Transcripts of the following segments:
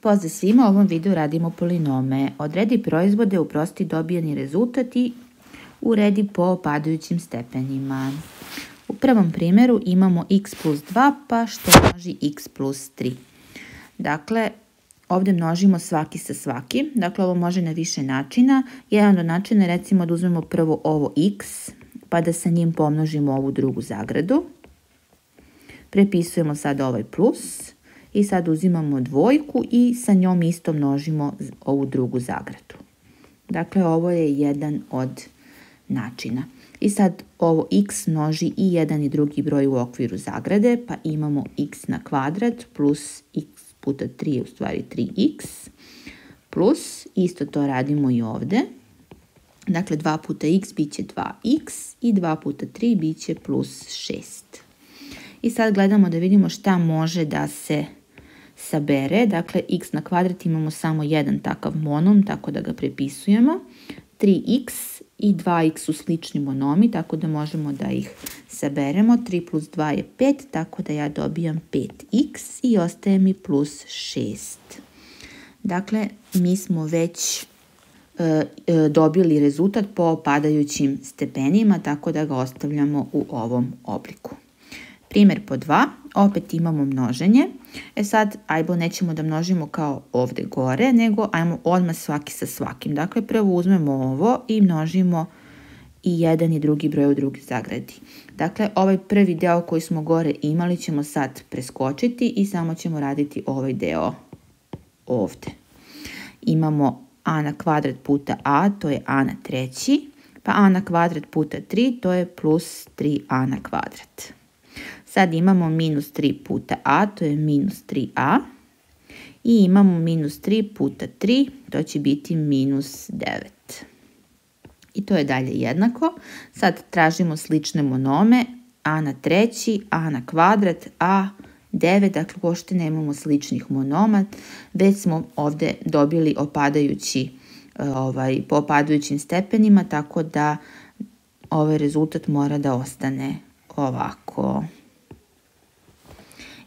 Pozdrav svima, u ovom videu radimo polinome. Odredi proizvode, uprosti dobijeni rezultat i uredi po padajućim stepenima. U prvom primjeru imamo x plus 2 pa što množi x plus 3. Dakle, ovdje množimo svaki sa svakim. Dakle, ovo može na više načina. Jedan od načina je recimo da uzmemo prvo ovo x pa da sa njim pomnožimo ovu drugu zagradu. Prepisujemo sad ovaj plus. I sad uzimamo dvojku i sa njom isto množimo ovu drugu zagradu. Dakle, ovo je jedan od načina. I sad ovo x množi i jedan i drugi broj u okviru zagrade, pa imamo x na kvadrat plus x puta 3 je u stvari 3x, plus isto to radimo i ovdje. Dakle, 2 puta x bit će 2x i 2 puta 3 bit će plus 6. I sad gledamo da vidimo šta može da se sabere. Dakle, x na kvadrat imamo samo jedan takav monom, tako da ga prepisujemo. 3x i 2x su slični monomi, tako da možemo da ih saberemo. 3 plus 2 je 5, tako da ja dobijam 5x i ostaje mi plus 6. Dakle, mi smo već dobili rezultat po padajućim stepenima, tako da ga ostavljamo u ovom obliku. Primjer po 2, opet imamo množenje. Sad, ajmo nećemo da množimo kao ovdje gore, nego ajmo odmah svaki sa svakim. Dakle, prvo uzmemo ovo i množimo i jedan i drugi broj u drugi zagradi. Dakle, ovaj prvi deo koji smo gore imali ćemo sad preskočiti i samo ćemo raditi ovaj deo ovdje. Imamo a na kvadrat puta a, to je a na treći, pa a na kvadrat puta 3, to je plus 3a na kvadrat. Sad imamo minus 3 puta a, to je minus 3a. I imamo minus 3 puta 3, to će biti minus 9. I to je dalje jednako. Sad tražimo slične monome, a na treći, a na kvadrat, a 9. Dakle, uopšte nemamo sličnih monoma, već smo ovdje dobili po opadajućim stepenima, tako da ovaj rezultat mora da ostane ovako.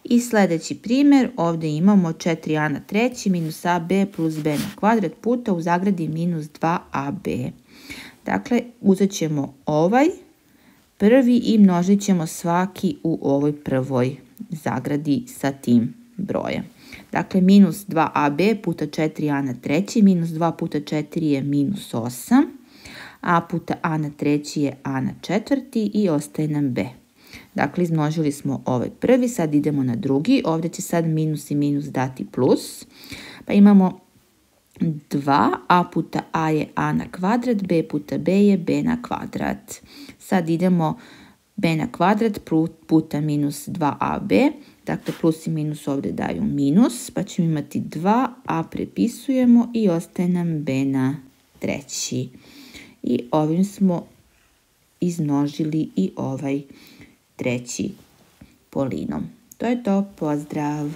I sljedeći primjer, ovdje imamo 4a na treći minus ab plus b na kvadrat puta u zagradi minus 2ab. Dakle, uzet ćemo ovaj prvi i množit ćemo svaki u ovoj prvoj zagradi sa tim brojem. Dakle, minus 2ab puta 4a na treći minus 2 puta 4 je minus 8. A puta a na treći je a na četvrti i ostaje nam b. Dakle, izmnožili smo ovaj prvi, sad idemo na drugi. Ovdje će sad minus i minus dati plus. Pa imamo 2, a puta a je a na kvadrat, b puta b je b na kvadrat. Sad idemo b na kvadrat puta minus 2ab. Dakle, plus i minus ovdje daju minus, pa ćemo imati 2, a prepisujemo i ostaje nam b na treći. I ovim smo izmnožili i ovaj treći polinom. To je to, pozdrav!